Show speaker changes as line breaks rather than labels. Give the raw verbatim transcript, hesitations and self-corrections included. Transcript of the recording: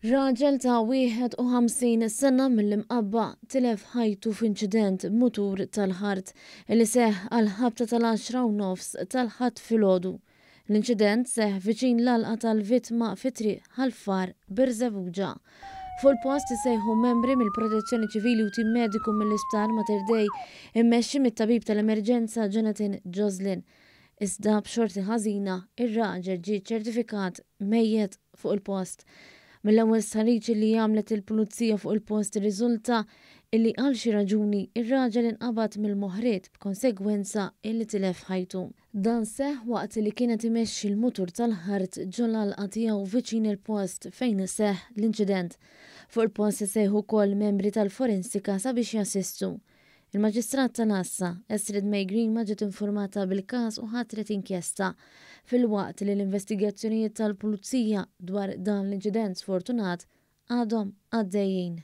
Raġel ta' wieħed u ħamsin sena mill-Imqabba tilef ħajtu f'inċident b'mutur tal-ħart li seħħ għall-ħabta tal-għaxra u nofs tal-Ħadd filgħodu. L-inċident seħħ viċin l-għalqa tal-vittma fi Triq Ħal Far, Birżebbuġa. Fuq il-post isejħu membri mill-Protezzjoni Ċivili u tim mediku mill-Isptar Mater Dei immexxi mit-tabib tal-emerġenza Jonathan Joslin. Iżda b'xorti ħażina, ir-raġel ġie ċertifikat mejjet fuq il-post. Mill-ewwel stħarriġ li għamlet il-pulizija fuq il-post irriżulta illi għal xi raġuni ir-raġel inqabad mill-moħriet b'konsegwenza illi tilef ħajtu. Dan seħħ waqt li kienet imexxi l-mutur tal-ħart ġol-għalqa tiegħu viċin il-post fejn seħħ l-inċident. Fuq il-post isejħu wkoll membri tal-forensika sabiex jassistu. Il-Maġistrat tal-Għassa, Astrid May Grima, ġiet informata bil-każ u ħatret inkjesta filwaqt li l-investigazzjonijiet tal-Pulizija dwar dan l-inċident sfortunat għadhom għaddejjin.